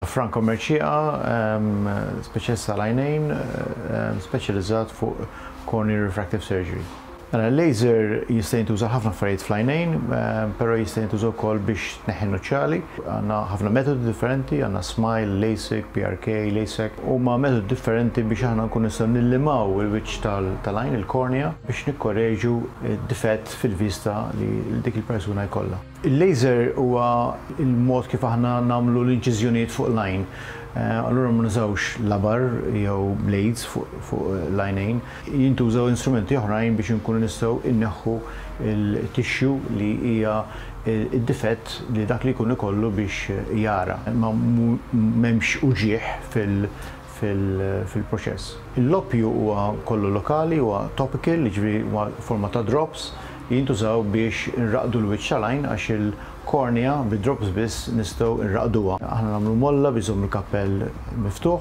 Franco Mercieca, speċjalista tal-għajnejn, speċjalizzat fuq corneal refractive surgery. Mela, laser jista' jintuża ħafna affarijiet fl-għajnejn, però jista' jintuża wkoll biex tneħħi nuċċali. Għandna ħafna metodi differenti, għandna SMILE, LASIK, PRK, LASEK, huma metodi differenti biex aħna nkunu nistgħu nillimaw il-wiċċ tal-għajn, il-kornea, biex nikkoreġu difett fil-vista li dik il-persuna jkollha. Il-laser huwa il-mod kif aħna nagħmlu l-inċiżjonijiet fuq l-għajn. Allura ma nużawx labar jew blades fuq l-għajnejn. Jintużaw instrumenti oħrajn biex inkunu nistgħu inneħħu il-tissue li hija id-difett li dak li jkun ikollu biex jara. Ma m'hemmx uġigħ fil-proċess. Il-loppju huwa kollu lokali, huwa topical, jiġifieri huwa forma ta' drops li jintużaw biex nraqdu l-wiċċ tal-għajn għax il-kornea bid-drops biss nistgħu nraqduha. Aħna nagħmlu molla biex iżomm il-kappell miftuħ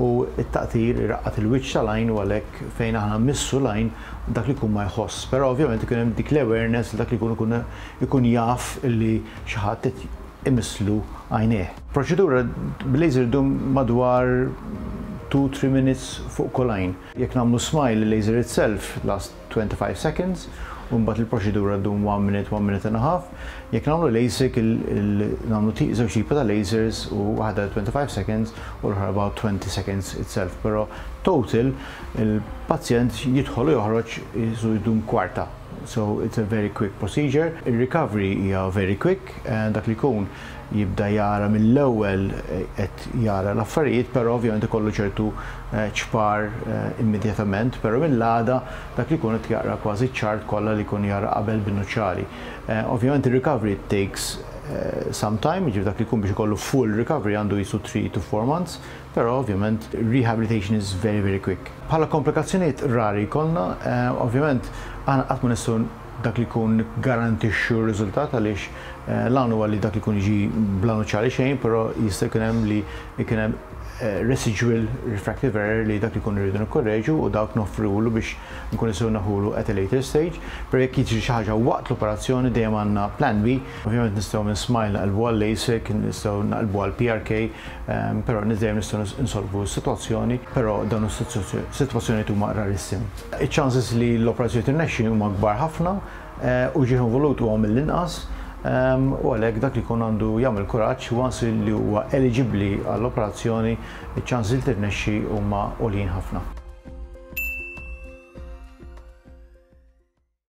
u t-taqtir iraqqad il-wiċċ tal-għajn u għalhekk fejn aħna mmissu l-għajn dak li jkun ma jħoss. Però ovvjament ikun hemm dik l-awareness li dak li jkun ikun ikun jaf li xi ħadd qed imisslu għajnejh. Proċedura bil-laser ddum madwar 2-3 minutes fuq kull għajn. Jekk nagħmlu SMILE, il-laser itself last 25 seconds, u mbagħad il-proċedura ddum 1 minute, 1 minute and a half. Jekk nagħmlu LASIK, nagħmlu żewġ tipi ta' lasers u waħda 25 seconds u l-oħra about 20 seconds itself. Però total il-pazjent jidħol u joħroġ jisu jdum kwarta. So it's a very quick procedure. Il-recovery hija very quick, dak li jkun jibda jara mill-ewwel qed jara l-affarijiet, però ovvjament ikollu ċertu ċpar immedjatament, però mill-għada dak li jkun qed jaqra kważi ċ-chart kollha li jkun jara qabel bin-nuċċali. Ovvjament il-recovery takes some time, jiġifieri dak li jkun biex ikollu full recovery għandu jisu 3 to 4 months, però ovvjament rehabilitation is very very quick. Bħala komplikazzjonijiet rari jkollna, ovvjament aħna qatt ma nistgħu dak li jkun garantixxu r-riżultat għaliex l-għan huwa li dak li jkun jiġi bla nuċċali xejn, però jista' jkun hemm li jkun hemm residual refractive error li dak li jkun irridu nikkorreġu u dawk noffrulu biex nkun nistgħu naħulu at a later stage. Però jekk jiġri xi ħaġa waqt l-operazzjoni dejjem għandna plan B. Ovvjament nistgħu minn SMILE naqilbu għal LASIK, nistgħu naqilbu għal PRK, però dejjem nistgħu nsolvu s-sitwazzjoni, però dawn is-sitwazzjonijiet huma rarissimi. Iċ-chances li l-operazzjoni tirnexxi huma kbar ħafna u uġigħ involut huwa mill-inqas u għalhekk dak li jkun għandu jagħmel kuraġġ once li huwa eligibbli għall-operazzjoni, iċ-chances li tirnexxi huma għoljin ħafna.